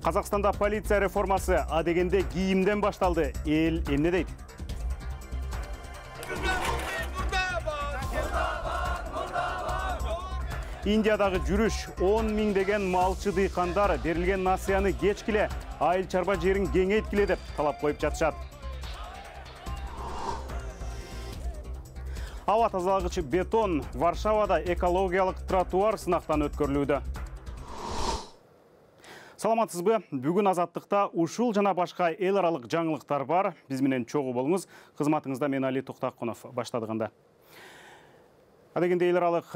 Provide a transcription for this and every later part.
Казакстанда полиция реформасы адегенде кийимден башталды. Эл эмне дейт? Индиядагы жүрүш 10 миңдеген малчы дыйкандар берилген насыяны кечкиле, айыл чарба жерин кеңейткиле деп талап коюп жатышат. Аба тазалагычы бетон Варшавада экологиялык тротуар сынактан өткөрүлүүдө. Саламатсызбы? Бүгүн Азаттыкта ушул жана башка эл аралык жаңылыктар бар. Биз менен чогуу болуңуз. Кызматыңызда мен Али Токтакунов баштадыгында. Адегенде эл аралык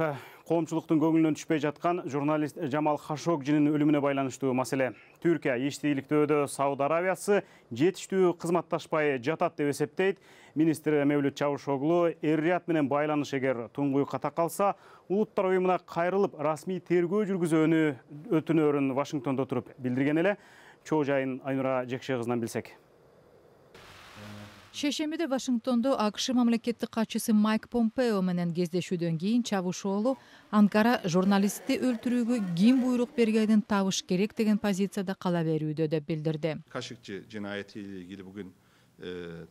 коомчулуктун көңүлүнөн түшпөй жаткан журналист Жамал Хашогжинин өлүмүнө байланыштуу маселе. Түркия иштейликтөөдө Сауд Аравиясы жетиштүү кызматташпай жатат деп эсептейт. Министр Мевлют Чавушоглу эр-Рият менен байланыш эгер туңгуюкка такалса, улуттар уюмуна кайрылып расмий тергөө жүргүзүүнү өтүнөрүн Вашингтондо туруп билдирген эле. Чоо жайын Айнура Жекше кызынан билсек. Шейшембиде Вашингтондо АКШ мамлекеттик катчысы Майк Помпео менен кездешүүдөн кийин Чавушоглу Анкара журналистти өлтүрүүгө ким буйрук бергенин табыш керек деген позицияда кала берүүдө деп билдирди. Кашыкчы жинаяты ile ilgili bugün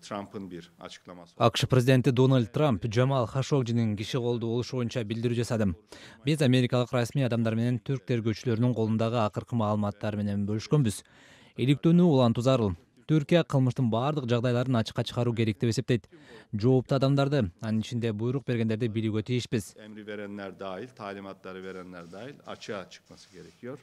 Trump'ın bir açıklaması. АКШ президенти Дональд Трамп Жамал Хашогжинин киши колдуу болушу боюнча билдирүү жасады. Биз америкалык расмий адамдар менен түрк тергөөчүлөрүнүн колундагы акыркы маалыматтар менен бөлүшкөнбүз. Иликтөөнү улантуу зарыл. Түркия кылмыштын бардык жагдайларын ачыкка чыгаруу керек деп эсептейт. Жооптуу адамдарды, анын ичинде буйрук бергендерди билүүгө тийишпиз. Emri verenler dahil, talimatları verenler dahil açığa çıkması gerekiyor.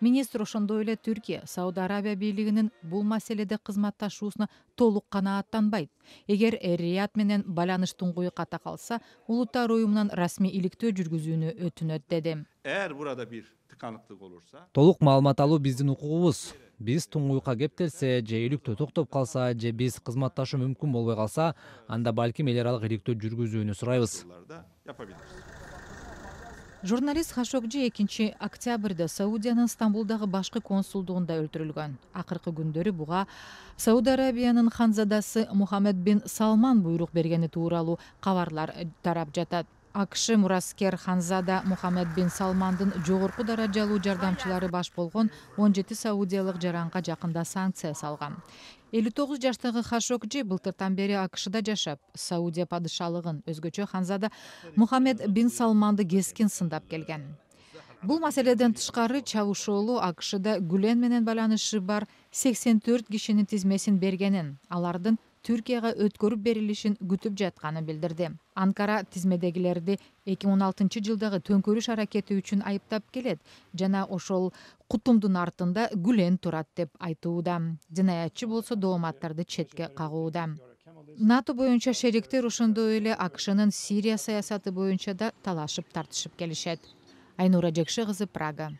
Министр ошондой эле Түркия Сауд Арабия бийлигинин бул маселеде кызматташуусуна толук канааттанбайт. Эгер эр-Рият менен байланыш туңгуюкка такалса, улуттар уюмунан расмий иликтөө жүргүзүүнү өтүнөт деди. Eğer burada bir tıkanıklık olursa, Толук маалымат алуу биздин укугубуз. Биз туңгуюкка кептелсе, же иликтөө токтоп калса, же биз кызматташуу мүмкүн болбой калса, анда балким эл аралык иликтөө жүргүзүүнү сурайбыз. da yapabiliriz. Журналист Хашогжи 2 октябрда Саудиянын Стамбулдагы башкы консулдугунда өлтүрүлгөн. Акыркы күндөрү буга Сауд Арабиянын ханзадасы Мухаммед бин Салман буйрук бергени тууралуу кабарлар тарап жатат. АКШ мураскер ханзада Мухаммед бин Салмандын жогорку даражалуу жардамчылары баш болгон 17 саудиялык жаранга жакында санкция салган. 59 жаштагы Хашогжи былтыртан бери АКШда жашап, Саудия падышалыгын, өзгөчө ханзада Мухаммед бин Салманды кескин сындап келген. Бул маселеден тышкары Чавушоглу АКШда Гүлен менен байланышы бар 84 кишинин тизмесин бергенин, алардын Түркияга өткөрүп берилишин күтүп жатканын билдирди. Анкара тизмедегилерди 2016 жылдагы төңкөрүш аракети үчүн айыптап келет жана ошол кутумдун артында Гүлен турат деп айтууда. Жинаятчы болсо дооматтарды четке кагууда. НАТО боюнча шериктер ошондой эле АКШнын Сирия саясаты боюнча да талашып тартышып келишет. Айнура Жекше кызы, Прага.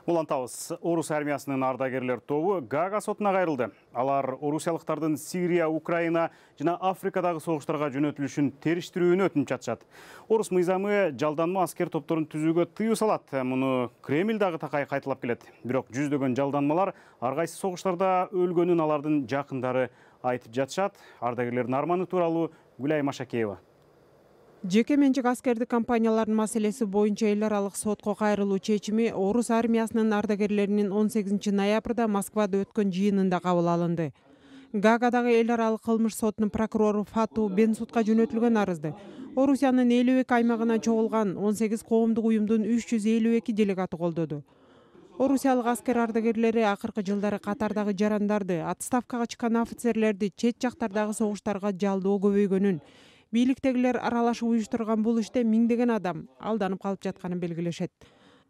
Улантабыз. Орус армиясынын ардагерлер тобу Гага сотуна кайрылды. Алар орусиялыктардын Сирия, Украина жана Африкадагы согуштарга жөнөтүлүшүн териштирүүнү өтүнүп жатышат. Орус мыйзамы жалданма аскер топторун түзүүгө тыюу салат. Муну Кремль дагы такай кайталап келет. Бирок жүздөгөн жалданмалар ар кайсы согуштарда өлгөнүн алардын жакындары айтып жатышат. Ардагерлердин арманы тууралуу Гүлай Машакеева. Жеке менчик аскердик компаниялардын маселеси боюнча эл аралык сотко кайрылуу чечими Орус армиясынын ардагерлеринин 18 ноябрда Москвада өткөн жыйынында кабыл алынды. Гаагадагы эл аралык кылмыш сотунун прокурору Фату Бенсудка жөнөтүлгөн арызды Орусиянын 52 аймагынан чогулган 18 коомдук уюмдун 352 делегаты колдоду. Орусиялык аскер ардагерлери акыркы жылдары катардагы жарандарды, отставкага чыккан офицерлерди чет жактардагы согуштарга жалдоо көбөйгөнүн, бийликтегилер аралашып уюштурган бул иште миңдеген адам алданып калып жатканын белгилешет.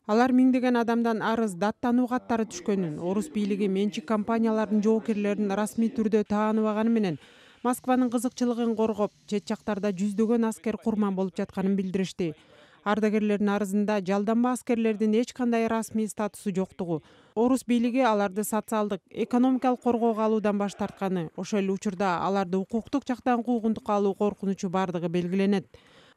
Алар миңдеген адамдан арыз, даттануу каттары түшкөнүн, Орус бийлиги менчик компаниялардын жоокерлерин расмий түрдө тааныбаганы менен Москванын кызыкчылыгын коргоп, чет жактарда жүздөгөн аскер курман болуп жатканын билдиришти. Ардагерлердин арызында жалданма аскерлердин эч кандай расмий статусу жоктугу, Орус бийлиги аларды социалдык, экономикалык коргоого алуудан баш тартканы, ошол эле учурда аларды укуктук жактан куугунтукка алуу коркунучу бардыгы белгиленет.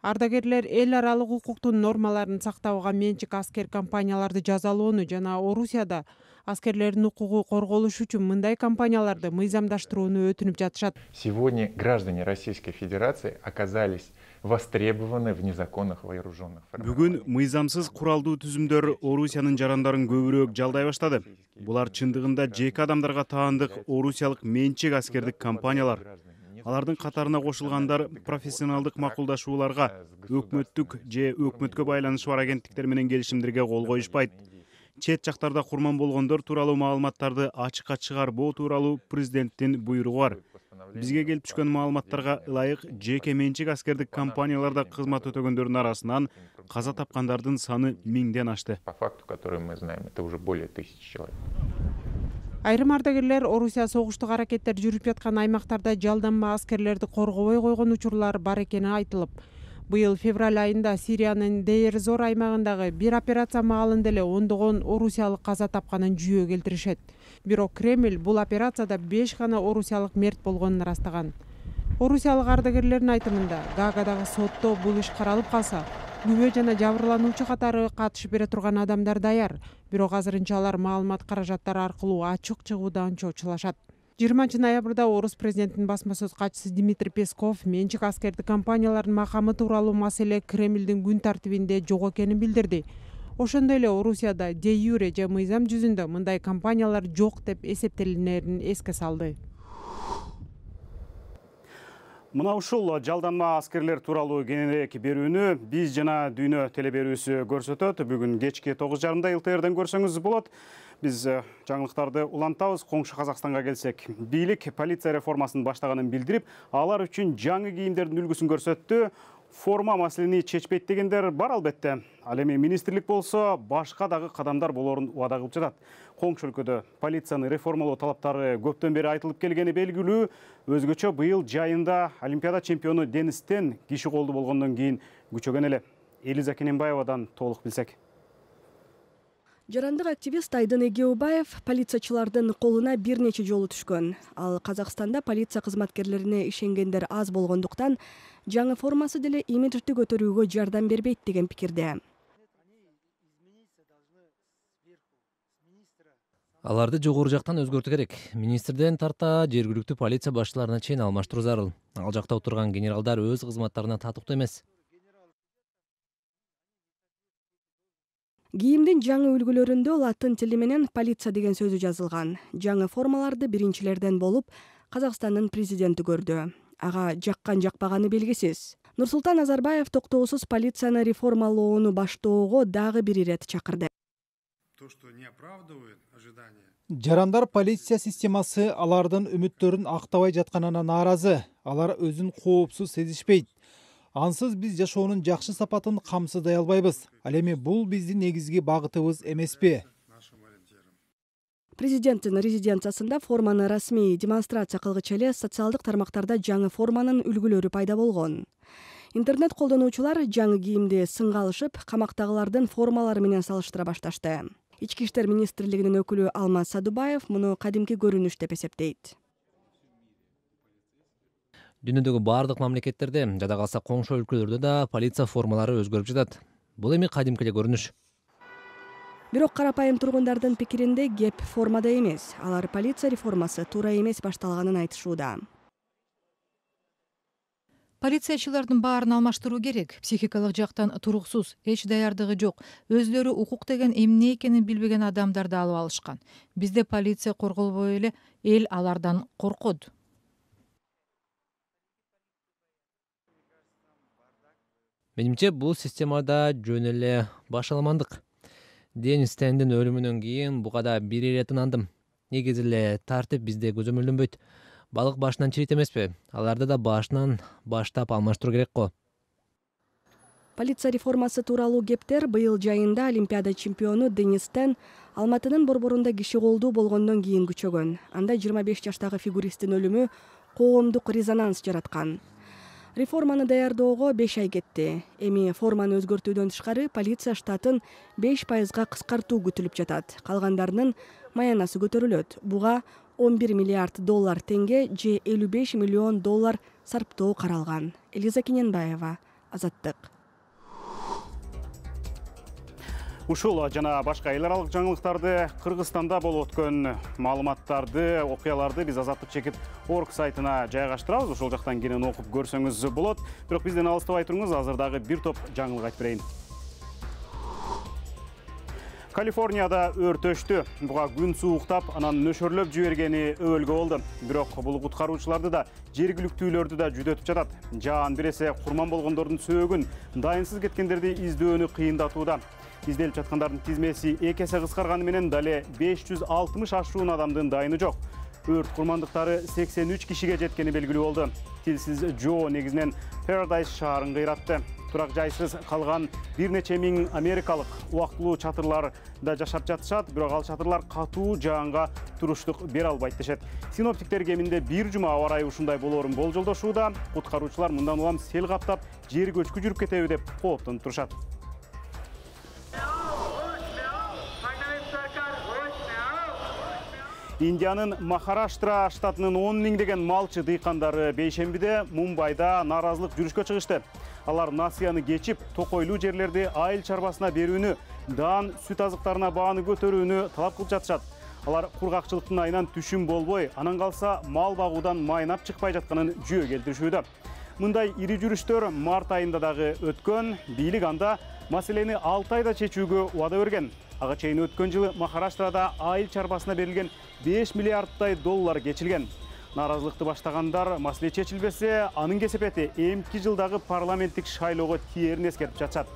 Ардагерлер эл аралык укуктун нормаларын сактабаган менчик аскер компанияларды жазалоону жана Орусияда аскерлердин укугу корголушу үчүн мындай компанияларды мыйзамдаштырууну өтүнүп жатышат. Сегодня граждане Российской Федерации оказались востребованы в незаконных вооруженных формированиях. Бүгүн мыйзамсыз куралдуу түзүмдөр Орусиянын жарандарын көбүрөөк жалдай баштады. Булар чындыгында жеке адамдарга таандык орусиялык менчик аскердик компаниялар. Алардын катарына кошулгандар профессионалдык макулдашууларга, өкмөттүк же өкмөткө байланышы бар агенттиктер менен келишимдерге кол коюшпайт. Чет жактарда курман болгондор тууралуу маалыматтарды ачыкка чыгарбоо тууралуу президенттин буйругу бар. Бизге келип түшкөн маалыматтарга ылайык жеке менчик аскердик компанияларда кызмат өтөгөндөрдүн арасынан каза тапкандардын саны 1000ден ашты. По факту, который мы знаем, это уже более 1000 человек. Айрым ардагерлер Орусия согуштук аракеттер жүрүп жаткан аймактарда жалданма аскерлерди коргобой койгон учурлар бар экени айтылып, быйыл февраль айында Сириянын Дейр-Зор аймагындагы бир операция маалында эле ондогон орусиялык каза тапканын жүйө келтиришет. Бирок Кремль бул операцияда 5 гана орусиялык мерт болгонун ырастаган. Орусиялык ардагерлердин айтымында, Гаагадагы сотто бул иш каралып калса, күбө жана жабырлануучу катары катышып бере турган адамдар даяр. Бирок азырынча алар маалымат каражаттары аркылуу ачык чыгуудан чочулашат. 20 ноябрда орус президентинин басма сөз катчысы Дмитрий Песков менчик аскердик компаниялардын макамы тууралуу маселе Кремлдин күн тартибинде жок экенин билдирди. Ошондой эле Орусияда де юре же мыйзам жүзүндө мындай компаниялар жок деп эсептелинерин эске салды. Мына ушул жалданма аскерлер тууралуу кененирээк берүүнү Биз жана Дүйнө телеберүүсү көрсөтөт. Бүгүн кечки 9:30 ЛТРден көрсөңүз болот. Биз жаңылыктарды улантабыз. Коңшу Казакстанга келсек, бийлик полиция реформасын баштаганын билдирип, алар үчүн жаңы кийимдердин үлгүсүн көрсөттү. Форма маселени чечпейт дегендер бар албетте. Ал эми министрлик болсо башка дагы кадамдар болорун убада кылып жатат. Коңшу өлкөдө полицияны реформалоо талаптары көптөн бери айтылып келгени белгилүү. Өзгөчө быйыл жайында Олимпиада чемпиону Денис Тен киши колду болгондон кийин күчөгөн эле. Элиза Кененбаевадан толук билсек. Жарандык активист Айдын Эгеубаев полициячылардын колуна бир нече жолу түшкөн. Ал Казакстанда полиция кызматкерлерине ишенгендер аз болгондуктан жаңы формасы деле имиджди көтөрүүгө жардам бербейт деген пикирде. Аларды жогору жактан өзгөртүү керек. Министрден тарта жергиликтүү полиция башчыларына чейин алмаштыруу зарыл. Ал жакта отурган генералдар өз кызматтарына татыктуу эмес. Кийимдин жаңы үлгүлөрүндө латын тили менен полиция деген сөзү жазылган. Жаңы формаларды биринчилерден болуп Казакстандын президенти көрдү. Ага жаккан жакпаганы белгисиз. Нурсултан Назарбаев токтоосуз полицияны реформалоону баштоого дагы бир ирет чакырды. Жарандар полиция системасы алардын үмүттөрүн актабай жатканына нааразы. Алар өзүн коопсуз сезишпейт. Ансыз биз жашоонун жакшы сапатын камсыздай албайбыз. Ал эми бул биздин негизги багытыбыз эмеспи? Президенттин резиденциясында форманы расмий демонстрация кылгыча эле социалдык тармактарда жаңы форманын үлгүлөрү пайда болгон. Интернет колдонуучулар жаңы кийимди сынга алышып, камактагылардын формалары менен салыштыра башташты. Ички иштер министрлигинин өкүлү Алмаз Садубаев муну кадимки көрүнүш деп эсептейт. Дүйнөдөгү бардык мамлекеттерде, жада калса коңшу өлкөлөрдө да полиция формалары өзгөрүп жатат. Бул эми кадимки эле көрүнүш. Бирок карапайым тургундардын пикиринде кеп формада эмес. Алар полиция реформасы туура эмес башталганын айтышууда. Полициячылардын баарын алмаштыруу керек. Психикалык жактан туруксуз, эч даярдыгы жок, өзлөрү укук деген эмне экенин билбеген адамдарды алып алышкан. Бизде полиция корголбой эле эл алардан коркот. Менимче бул системада жөн эле башаламандык. Денис Тендин өлүмүнөн кийин буга да бир ирет ынандым. Негизи эле тартип бизде көзөмөлдөнбөйт. Балык башынан чирийт эмеспи? Аларды да башынан баштап алмаштыруу керек го. Полиция реформасы тууралуу кептер быйыл жайында Олимпиада чемпиону Денис Тен Алматынын борборунда киши колдуу болгондон кийин күчөгөн. Анда 25 жаштагы фигуристтин өлүмү коомдук резонанс жараткан. Реформаны даярдоого 5 ай кетти. Эми форманы өзгөртүүдөн тышкары полиция штатын 5% кыскартуу күтүлүп жатат. Калгандарынын маянасы көтөрүлөт. Буга 11 миллиард доллар тенге же 55 миллион доллар сарптоо каралган. Элиза Кененбаева, Азаттык. Ушул жана башка эл аралык жаңылыктарды, Кыргызстанда болуп өткөн маалыматтарды, окуяларды биз Азаттык чекит орг сайтына жайгаштырабыз. Ошол жактан кенен окуп көрсөңүз болот. Бирок бизден алыстабай туруңуз, азыр дагы бир топ жаңылык айтып берейин. Калифорнияда өрт өчтү. Буга күн сууктап, анан нөшөрлөп жибергени өбөлгө болду. Бирок бул куткаруучуларды да, жергиликтүүлөрдү да жүдөтүп жатат. Жаан бир эсе курман болгондордун сөөгүн, дайынсыз кеткендерди издөөнү кыйындатууда. Изделип жаткандардын тизмеси 2 эсе кыскарганы менен дале 560 ашуун адамдын дайыны жок. Өрт курмандыктары 83 кишиге жеткени белгилүү болду. Тилсиз Жо негизинен Paradise шаарын кыйратты. Турак жайсыз калган бир нече миң америкалык убактылуу чатырларда жашап жатышат, бирок ал чатырлар катуу жаанга туруштук бере албайт дешет. Синоптиктер кеминде бир жума аба ырайы ушундай болоорун болжолдошууда. Куткаруучулар мындан улам сел каптап, жер көчкү жүрүп кетеби деп кооптонуп турушат. Индиянын Махараштра штатынын 10 миңдеген малчы дыйкандары бейшембиде Мумбайда нааразылык жүрүшкө чыгышты. Алар насыяны кечип, токойлуу жерлерди айыл чарбасына берүүнү, даан сүт азыктарына бааны көтөрүүнү талап кылып жатышат. Алар кургакчылыктын айынан түшүм болбой, анан калса мал багуудан майнап чыкпай жатканын жүйө келтиришүүдө. Мындай ири жүрүштөр март айында дагы өткөн. Бийлик анда маселени 6 айда чечүүгө убада берген. Ага чейин өткөн жылы Махараштрада айыл чарбасына берилген 5 миллиардтай доллар кечилген. Нааразылыкты баштагандар маселе чечилбесе, анын кесепети эмки жылдагы парламенттик шайлоого тиерин эскертип жатышат.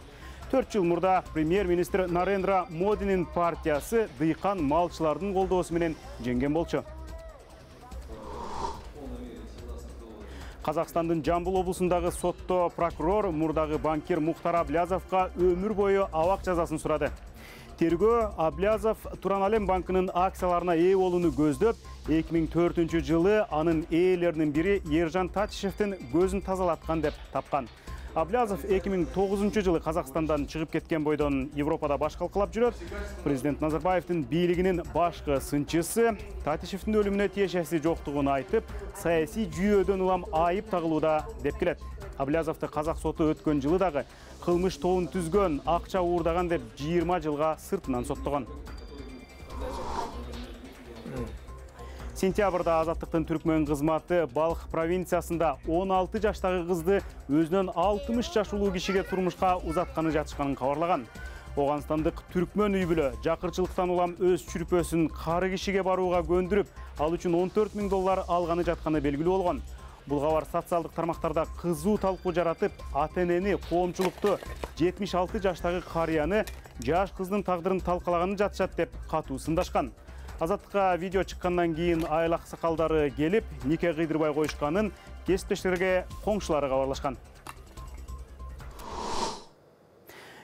4 жыл мурда премьер-министр Нарендра Модинин партиясы дыйкан малчылардын колдоосу менен жеңген болчу. Казакстандын Жамбыл облусундагы сотто прокурор мурдагы банкир Мухтар Аблязовго өмүр бою абак жазасын сурады. Тергөө Аблязов Туран Алем банкынын акцияларына ээ болууну көздөп, 2004 жылы анын ээлеринин бири Ержан Татишевдин көзүн тазалаткан деп тапкан. Аблязов 2009 жылы Казакстандан чыгып кеткен бойдон Европада баш калкалап жүрөт. Президент Назарбаевдин бийлигинин башкы сынчысы Татишевдин өлүмүнө тиешеси жоктугун айтып, саясий жүйөөдөн улам айып тагылууда деп келет. Аблязовду казак соту өткөн жылы дагы кылмыш тобун түзгөн, акча уурдаган деп 20 жылга сыртынан соттогон. Сентябрда Азаттыктын түркмөн кызматы Балх провинциясында 16 жаштагы кызды өзүнөн 60 жаш улуу кишиге турмушка узатканы жатышканын кабарлаган. Оганстандык түркмөн үй бүлө жакырчылыктан улам өз чүрпөсүн кары кишиге барууга көндүрүп, ал үчүн 14 000 доллар алганы жатканы белгилүү болгон. Бул кабар социалдык тармактарда кызуу талкуу жаратып, ата-энени, коомчулукту 76 жаштагы карыяны жаш кыздын тагдырын талкалаганы жатышат деп катуу сындашкан. Азаттыкка видео чыккандан кийин айыл аксакалдары келип, нике кыйдырбай коюшканын кесиптештерге коңшулары кабарлашкан.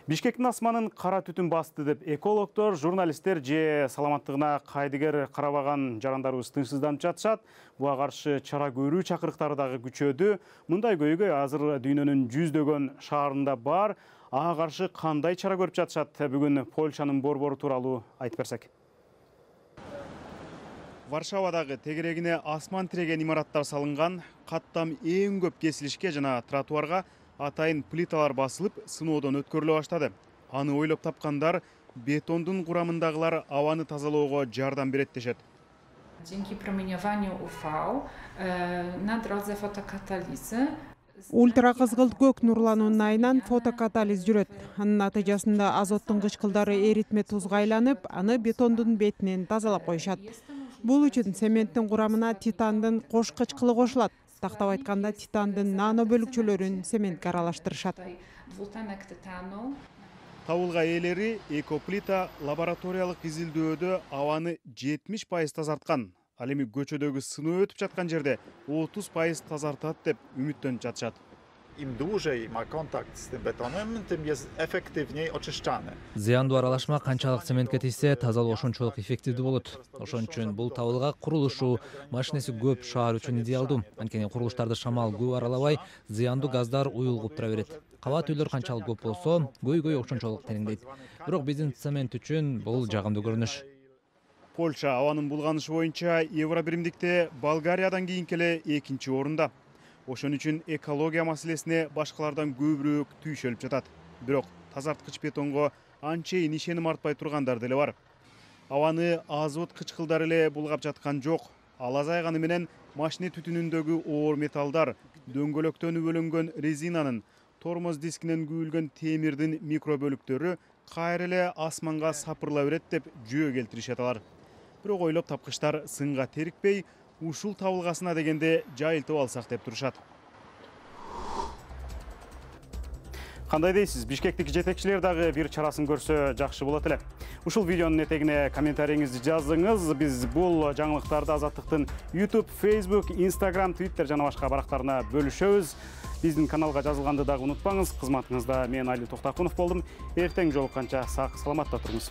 Бишкектин асманын кара түтүн басты деп экологдор, журналисттер же саламаттыгына кайдыгер карабаган жарандарыбыз тынчсызданып жатышат. Буга каршы чара көрүү чакырыктары дагы күчөдү. Мындай көйгөй азыр дүйнөнүн жүздөгөн шаарында бар. Ага каршы кандай чара көрүп жатышат? Бүгүн Польшанын борбору тууралуу айтып берсек. Варшавадагы тегерегине асман тиреген имараттар салынган, каттам эң көп кесилишке жана тротуарга атайын плиталар басылып, сыноодон өткөрүлө баштады. Аны ойлоп тапкандар бетондун курамындагылар абаны тазалоого жардам берет дешет. Dzięki promieniowaniu UV na drodze fotokatalizy Ультра кызгылт көк нурлануунун айынан фотокатализ жүрөт. Анын натыйжасында азоттун кычкылдары эритме тузга айланып, аны бетондун бетинен тазалап коюшат. Бул үчүн цементтин курамына титандын кош кычкылы кошулат. Тактап айтканда, титандын нано бөлүкчөлөрүн цементке аралаштырышат. Табылга ээлери экоплита лабораториялык изилдөөдө абаны 70% тазарткан. Ал эми көчөдөгү сыноо өтүп жаткан жерде 30% тазартат деп үмүттөнүп жатышат. Im dłużej ma kontakt z tym betonem, tym jest efektywniej oczyszczany. Зыяндуу аралашма канчалык цементке тийсе, тазалоо ошончолук эффективдүү болот. Ошон үчүн бул табылга курулушу машинеси көп шаар үчүн идеалдуу. Анткени курулуштарды шамал көп аралабай, зыяндуу газдар уюлгуп тура берет. Кабат үйлөр канчалык көп болсо, көйгөй ошончолук тереңдейт. Бирок биздин цемент үчүн бул жагымдуу көрүнүш. Польша абанын булганышы боюнча Евробиримдикте Болгариядан кийин келе 2-чи орунда. Ошон үчүн экология маселесине башкалардан көбүрөөк түйшөлүп жатат. Бирок тазарткыч бетонго анчейин ишеним артпай тургандар деле бар. Абаны азот кычкылдары эле булгап жаткан жок. Ал азайганы менен машина түтүнүндөгү оор металлдар, дөңгөлөктөнүп бөлүнгөн резинанын, тормоз дискинен күйүлгөн темирдин микробөлүктөрү кайра эле асманга сапырыла берет деп жөө келтиришет алар. Бирок ойлоп тапкычтар сынга терикпей, ушул табылгасына дегенде жайылтып алсак деп турушат. Кандай дейсиз? Бишкектик жетекчилер дагы бир чарасын көрсө жакшы болот эле. Ушул видеонун этегине комментарийиңизди жазыңыз. Биз бул жаңылыктарды Азаттыктын YouTube, Facebook, Instagram, Twitter жана башка барактарына бөлүшөбүз. Биздин каналга жазылганды дагы унутпаңыз. Кызматыңызда мен Али Токтакунов болдум. Эртең жолукканча сак саламатта туруңуз.